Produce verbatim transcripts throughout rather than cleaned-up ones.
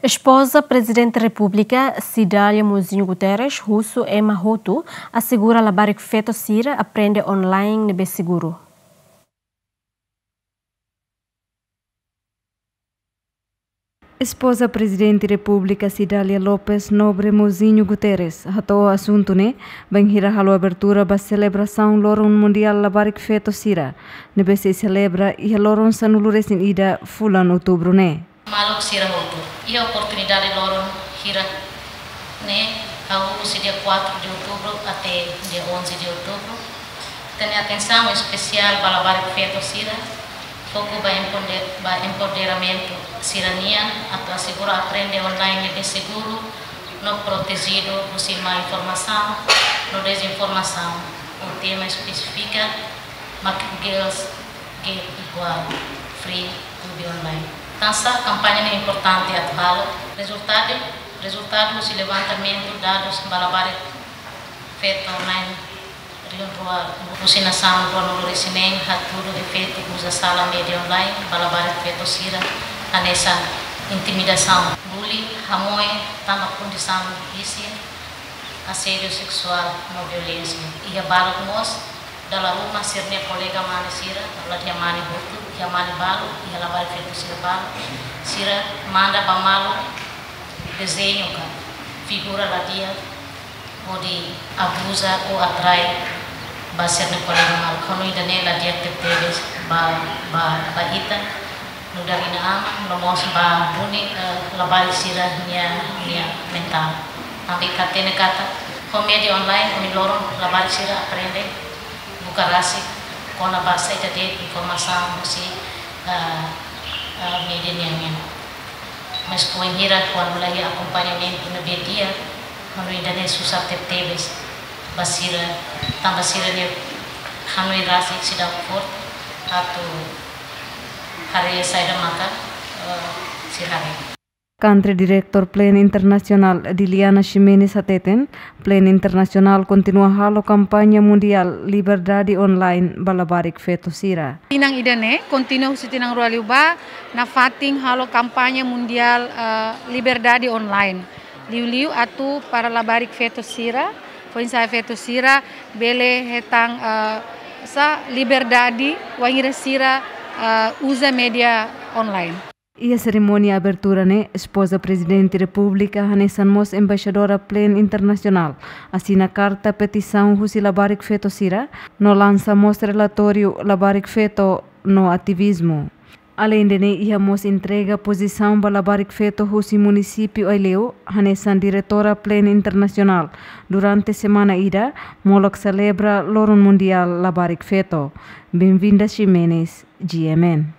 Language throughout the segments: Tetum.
Espoza Prezidente Repúblika, Cidália Mozinho Guterres, husu ema hotu asegura labarik-feto sira aprende online ne'ebé seguru. Espoza Prezidente Repúblika, Cidália Lopes Nobre Mozinho Guterres, hato'o asuntu ne'e bainhira halo abertura ba selebrasaun Loron Mundiál Labarik-Feto sira, ne'ebé sei selebra iha loron sanulu-resin-ida fulan Outubru ne'e. Maluk sira hotu, iha oportunidade loron hirak ne'e, hahú husi dia quatro de outubro até dia onze de outubro, tenke atensaun espesiál ba labarik-feto sira, foku ba empode-, ba empoderamentu sira-nian, atu asegura aprende online ne'ebé seguru no protejidu husi mal-informasaun no dezinformasaun. O tema espesífiku mak Girls Get Equal Free to be Online. Tansá kampaña ne'e importante atu halo? Rezultadu, rezultadu husi levantamentu dadus ba labarik-feto online rihun rua, husi nasaun ruanulu-resin-neen hatudu efeitu uza sala média online ba labarik-feto sira, hanesan intimidasaun, bully, hamoe tanba kondisaun isin, asédiu seksuál no violénsia. Iha balun mós, dala ruma sira-nia kolega mane sira, ladi'ak mane hotu, iha mane balu, iha labarik-feto sira balu, sira manda ba malu dezeñu ka figura ladi'ak hodi abuza ou atrai ba sira-nia kolega maluk. Hanoin ida-ne'e la di'ak tebetebes ba, ba, ba ita nu'udar inan-aman, no mós ba duni, eh, labarik sira-nia, nia mentál. Tanba ita hatene katak ho média online, ohin loron labarik sira aprende buka rasik kona-ba saida de'it informasaun husi, eh, eh, média nian nian. Mas foin hira kuandu la iha akompañamentu ne'ebé di'ak, hanoin ida-ne'e susar tebetebes ba sira, tanba sira-nia hanoin rasik seidauk forte atu haree saida maka, eh, sira haree. Country Director Plan Internasionál Diliana Ximenes hateten, Plan Internasionál kontinua halo kampaña mundiál liberdade online ba labarik-feto sira. Tinan ida-ne'e kontinua husi tinan rua liubá, nafatin halo kampaña mundiál, eh, liberdade online. Liuliu atu para labarik-feto sira, foin-sa'e feto sira bele hetan, eh, sá, liberdade wainhira sira, eh, uza média online. Iha serimónia abertura ne'e, Espoza Prezidente Repúblika hanesan mós Embaixadora Plan Internasionál asina karta petisaun husi labarik-feto sira, no lansa mós relatóriu Labarik-feto no Ativizmu. Aleinde ne'e, iha mós entrega pozisaun ba labarik-feto husi munisípiu Aileu, hanesan diretora Plan Internasionál, durante semana ida, molok selebra Loron Mundiál Labarik-feto. Benvinda Ximenes, G M N.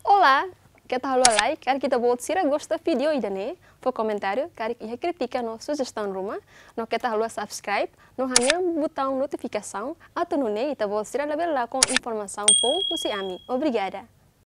Olá, keta haluha like, karik ita-boot sira gosta vídeo ida-ne'e, fó komentáriu, karik iha krítika no sujestaun ruma, no keta haluha subscribe, no hanehan butaun notifikasaun, atu nune'e ita-boot sira labele lakon informasaun boot husi ami. Obrigada.